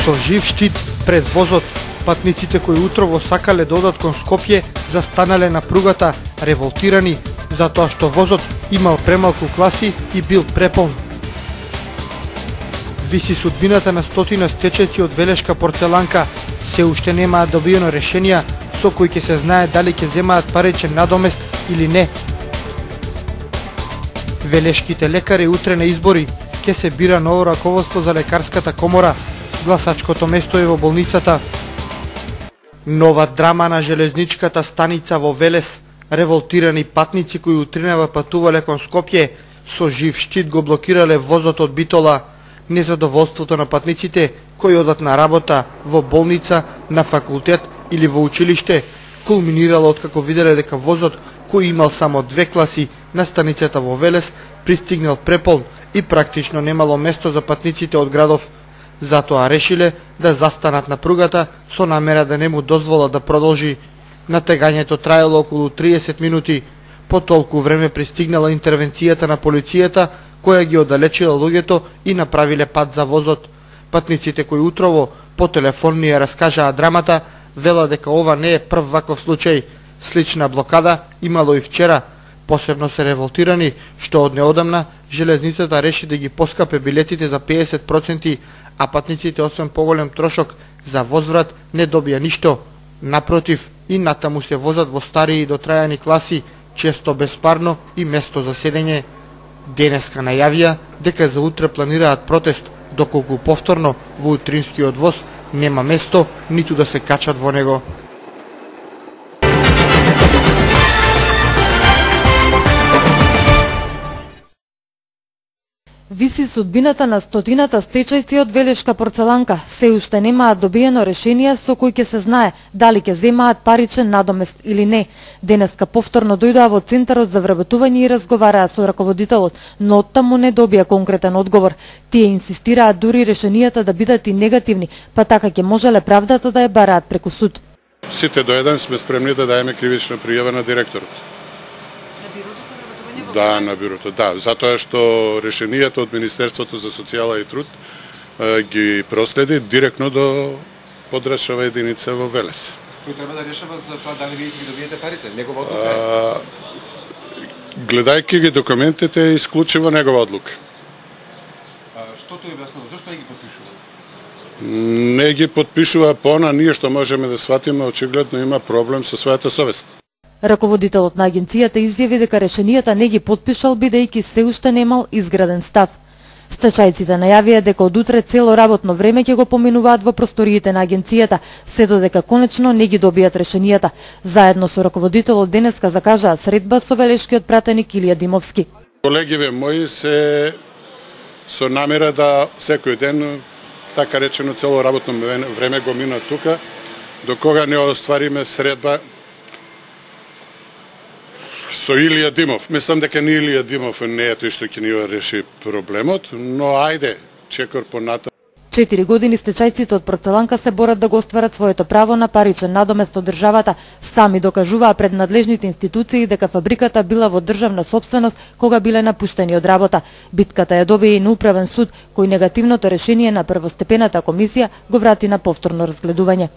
Со жив штит пред возот, патниците кои утрово сакале да одат кон Скопје застанале на пругата револтирани затоа што возот имал премалку класи и бил преполн. Виси судбината на стотина стечајци од Велешка порцеланка. Се уште немаат добиено решенија со кои ќе се знае дали ќе земаат паричен надомест или не. Велешките лекари утре на избори ќе се бира ново раководство за лекарската комора. Гласачкото место е во болницата. Нова драма на железничката станица во Велес. Револтирани патници кои утринава патувале кон Скопје со жив штит го блокирале возот од Битола. Незадоволството на патниците кои одат на работа, во болница, на факултет или во училиште кулминирало откако виделе дека возот кој имал само 2 класи на станицата во Велес пристигнал преполн и практично немало место за патниците од градов. Затоа решиле да застанат на пругата со намера да не му дозволат да продолжи. Натегањето траело околу 30 минути. По толку време пристигнала интервенцијата на полицијата која ги оддалечила луѓето и направиле пат за возот. Патниците кои утрово по телефон ни ја раскажаа драмата, вела дека ова не е прв ваков случај. Слична блокада имало и вчера. Посебно се револтирани што од неодамна железницата реши да ги поскапе билетите за 50%, а патниците освен поголем трошок за возврат не добија ништо. Напротив, и натаму се возат во старии и дотрајани класи, често беспарно и место за седење. Денеска најавија дека за утре планираат протест, доколку повторно во утринскиот воз нема место ниту да се качат во него. Виси судбината на стотината стечајци од Велешка порцеланка. Се уште немаат добиено решение со кој ќе се знае дали ќе земаат паричен надомест или не. Денеска повторно дојдоа во Центарот за вработување и разговараа со раководителот, но оттаму не добија конкретен одговор. Тие инсистираат дури решенијата да бидат и негативни, па така ќе можеле правдата да ја бараат преку суд. Сите до еден сме спремни да даеме кривична пријава на директорот. Да, на бюрото, да, затоа што решенијата од Министерството за социјала и труд ги проследи директно до подрачнава единица во Велес. Кој треба да решава за тоа дали вие ќе ги добиете парите? Негова одлука гледајќи ги документите е исклучиво негова одлука. Што тој објаснува? Зошто не ги подпишува? Не ги подпишува пона, ние што можеме да сватиме, очигледно има проблем со својата совест. Раководителот на агенцијата изјави дека решенијата не ги подпишал бидејќи се уште немал изграден став. Стачајците најавија дека од утре цело работно време ќе го поминуваат во просториите на агенцијата, се додека конечно не ги добијат решенијата. Заедно со раководителот денеска закажаа средба со велешкиот пратеник Илија Димовски. Колегиве мои се со намера да секој ден, така речено цело работно време го мина тука, до кога не оствариме средба со Илија Димов. Мислам дека не Илија Димов не е тој што ќе ни реши проблемот, но ајде, чекор понатаму. 4 години стечајците од порцеланка се борат да го остварат своето право на паричен надомест од државата. Сами докажуваа пред надлежните институции дека фабриката била во државна сопственост кога биле напуштени од работа. Битката ја добија и на управен суд, кој негативното решение на првостепената комисија го врати на повторно разгледување.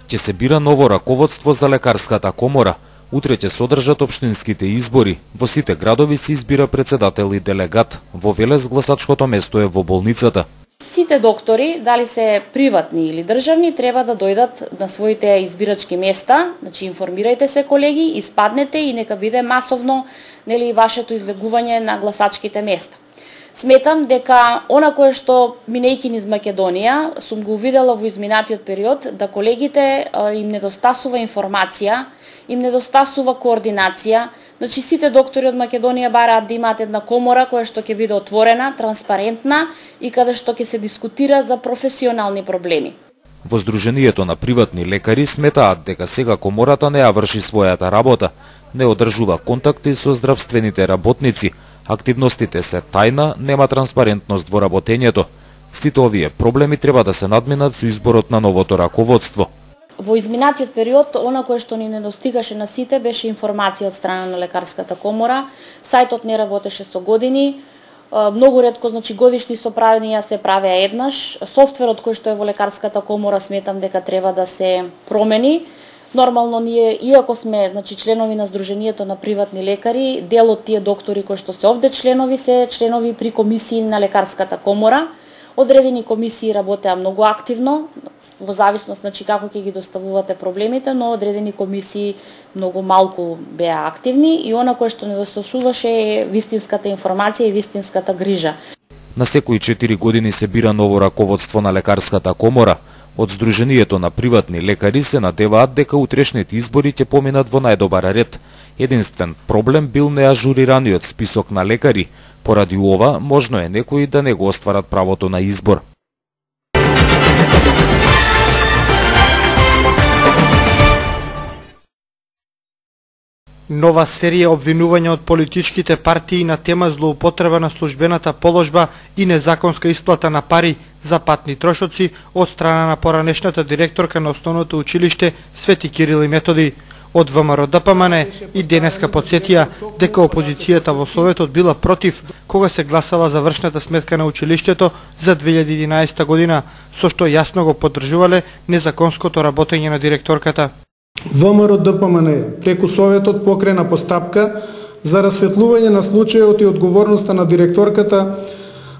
Ќе се бира ново раководство за лекарската комора. Утре ќе се одржат општинските избори. Во сите градови се избира председател и делегат. Во Велес гласачкото место е во болницата. Сите доктори, дали се приватни или државни, треба да дојдат на своите избирачки места. Значи, информирајте се, колеги, испаднете и нека биде масовно, нели, вашето излегување на гласачките места. Сметам дека она кое што минејќи низ Македонија, сум го увидела во изминатиот период, да колегите им недостасува информација, им недостасува координација. Значи, сите доктори од Македонија бараат да имаат една комора која што ќе биде отворена, транспарентна и каде што ќе се дискутира за професионални проблеми. Во Сдруженијето на приватни лекари сметаат дека сега комората не ја врши својата работа, не одржува контакти со здравствените работници, активностите се тајна, нема транспарентност во работењето. Сите овие проблеми треба да се надминат со изборот на новото раководство. Во изминатиот период, она кое што ни недостигаше на сите беше информација од страна на лекарската комора. Сајтот не работеше со години. Многу ретко, значи годишни соправења се правеа еднаш. Софтверот кој што е во лекарската комора сметам дека треба да се промени. Нормално ние, иако сме значи членови на Сдруженијето на приватни лекари, дел од тие доктори кои што се овде членови се членови при комисии на лекарската комора. Одредени комисии работеа многу активно, во зависност значи како ќе ги доставувате проблемите, но одредени комисии многу малку беа активни и она кое што недостигуваше е вистинската информација и вистинската грижа. На секои 4 години се бира ново раководство на лекарската комора. Од Сдруженијето на приватни лекари се надеваат дека утрешните избори ќе поминат во најдобар ред. Единствен проблем бил неажурираниот список на лекари. Поради ова, можно е некои да не го остварат правото на избор. Нова серија обвинувања од политичките партии на тема злоупотреба на службената положба и незаконска исплата на пари за патни трошоци од страна на поранешната директорка на Основното училиште Свети Кирил и Методи. Од ВМРО-ДПМН и денеска подсетија дека опозицијата во Советот била против кога се гласала за вршната сметка на училиштето за 2011 година, со што јасно го поддржувале незаконското работење на директорката. ВМРО-ДПМН преку Советот покрена постапка за расветлување на случајот и одговорноста на директорката,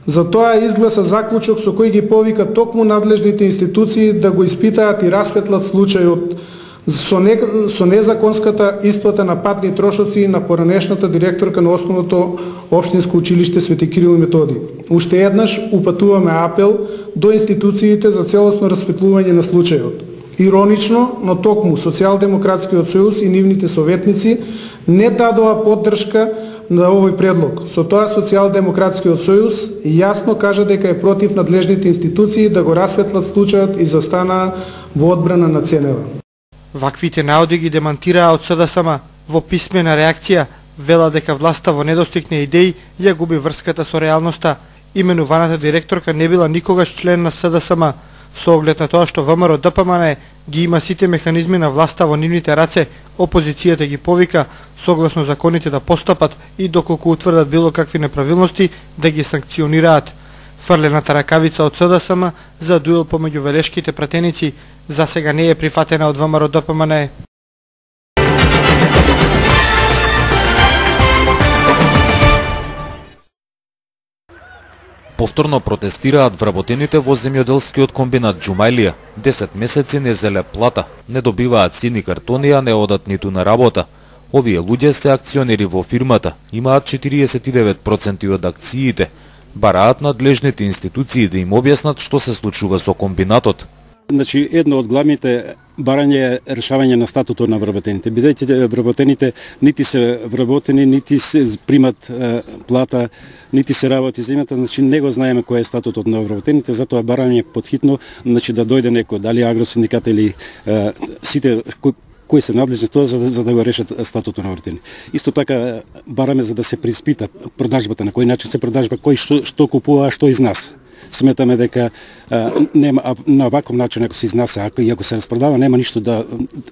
за тоа изгласа заклучок со кој ги повика токму надлежните институции да го испитаат и расветлат случајот со незаконската исплата на патни трошоци на поранешната директорка на Основното општинско училиште Свети Кирил и Методи. Уште еднаш упатуваме апел до институциите за целосно расветлување на случајот. Иронично, но токму Социјалдемократскиот сојуз и нивните советници не дадоа поддршка на овој предлог. Со тоа Социјалдемократскиот сојуз јасно кажа дека е против надлежните институции да го расветлат случајот и застанаа во одбрана на ЦНВ. Ваквите наоди ги демантираа од СДСМ. Во писмена реакција вела дека власта во недостиг на идеи ја губи врската со реалноста. Именуваната директорка не била никогаш член на СДСМ. Со оглед на тоа што ВМРО-ДПМН ги има сите механизми на власта во нивните раце, опозицијата ги повика согласно законите да постапат и доколку утврдат било какви неправилности да ги санкционираат. Фрлената ракавица од СДСМ за дуел помеѓу велешките пратеници за сега не е прифатена од ВМРО-ДПМН. Повторно протестираат вработените во земјоделскиот комбинат Џумајлија. 10 месеци не зеле плата, не добиваат сини картони, а не одат ниту на работа. Овие луѓе се акционери во фирмата, имаат 49% од акциите. Бараат надлежните институции да им објаснат што се случува со комбинатот. Значи, едно од главните барање е решавање на статутот на вработените. Бидејќи вработените нити се вработени, нити се примат плата, нити се работи земјата, значи не го знаеме кој е статутот на вработените, затоа барање подхитно, значи да дојде некој, дали агросиндикат или сите кои се надлежни тоа за да го решат статутот на вработените. Исто така бараме за да се приспита продажбата, на кој начин се продажба, кој што купува, а што изнася. Сметаме дека нема на ваков начин ако се изнася, ако се распродава, нема ништо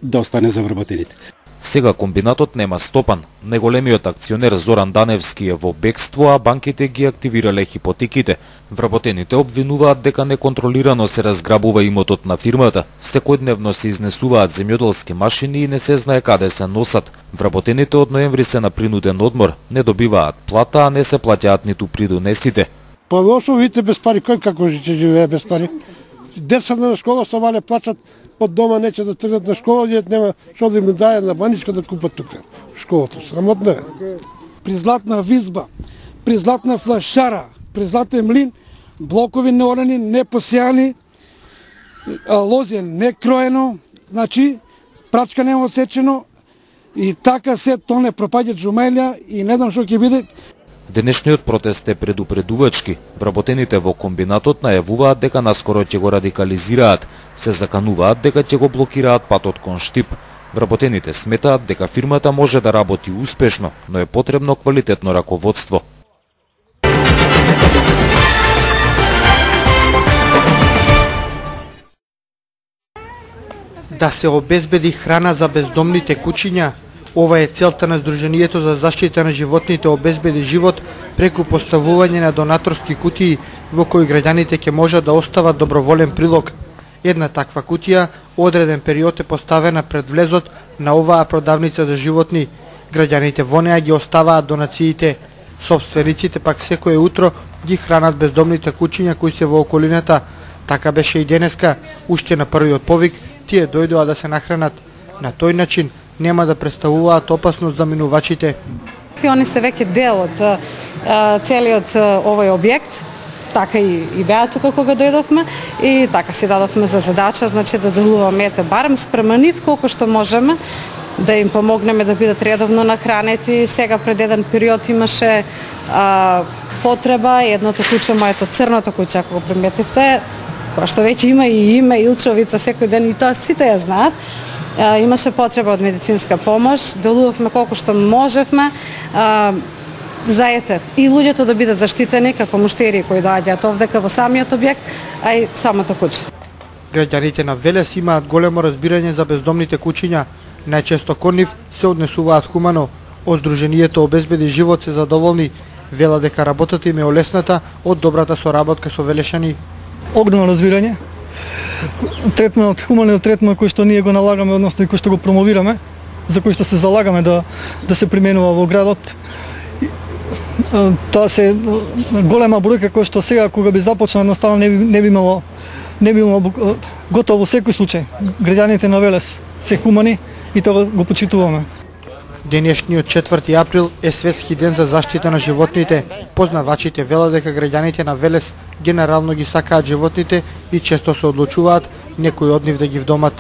да остане за вработените. Сега комбинатот нема стопан. Неголемиот акционер Зоран Даневски е во бегство, а банките ги активирале хипотеките. Вработените обвинуваат дека неконтролирано се разграбува имотот на фирмата. Секојдневно се изнесуваат земјоделски машини и не се знае каде се носат. Вработените од ноември се на принуден одмор, не добиваат плата, а не се плаќаат ниту придонесите. Па лошо, видите без пари, кој како ќе живее без пари? Деца на школа се вале плачат од дома, неќе да тргнат на школа, дет нема што да им даje на баничка да купат тука. Школата срамотно е. При златна визба, при златна флашара, при златен млин, блокови неорани, не посејани, лозје не кроено, значи прачка нема осечено и така се тоне пропаѓа Џумајлија и не знам што ќе биде. Денешниот протест е предупредувачки. Вработените во комбинатот најавуваат дека наскоро ќе го радикализираат. Се закануваат дека ќе го блокираат патот кон Штип. Вработените сметаат дека фирмата може да работи успешно, но е потребно квалитетно раководство. да се обезбеди храна за бездомните кучиња. Ова е целта на Сдруженијето за заштита на животните Обезбеди живот преку поставување на донаторски кутии во кои граѓаните ќе можат да остават доброволен прилог. Една таква кутија одреден период е поставена пред влезот на оваа продавница за животни. Граѓаните во неа ги оставаат донациите. Сопствениците пак секое утро ги хранат бездомните кучиња кои се во околината. Така беше и денеска, уште на првиот повик, тие дојдоа да се нахранат. На тој начин нема да представуваат опасност за минувачите. Они се веќе дел од целиот овој објект, така и беа тука кога дојдовме и така си дадовме за задача, значи да делуваме барем спрема нив колку што можеме, да им помогнеме да бидат редовно нахранети. Сега пред еден период имаше потреба, едното куче, моето црното куче, ако го приметивте, која што веќе има и име, Илчовица, секој ден, и тоа сите ја знаат, имаше потреба од медицинска помош, делувавме колку што можевме, заете и луѓето да бидат заштитени како муштери кои доаѓаат овдека во самиот објект, а и самото куче. Граѓаните на Велес имаат големо разбирање за бездомните кучиња. Најчесто кон нив се однесуваат хумано. Од Сдруженијето Обезбеди живот се задоволни, вела дека работата им е олесната од добрата соработка со велешани. Огромно разбирање. Третманот, хуманиот третман кој што ние го налагаме, односно и кој што го промовираме, за кој што се залагаме да се применува во градот. Тоа се голема бројка која што сега кога би започнал едноставно не би имало готово во секој случај. Граѓаните на Велес се хумани и тоа го почитуваме. Денешниот 4 април е светски ден за заштита на животните. Познавачите велат дека граѓаните на Велес генерално ги сакаат животните и често се одлучуваат некои од нив да ги вдомат.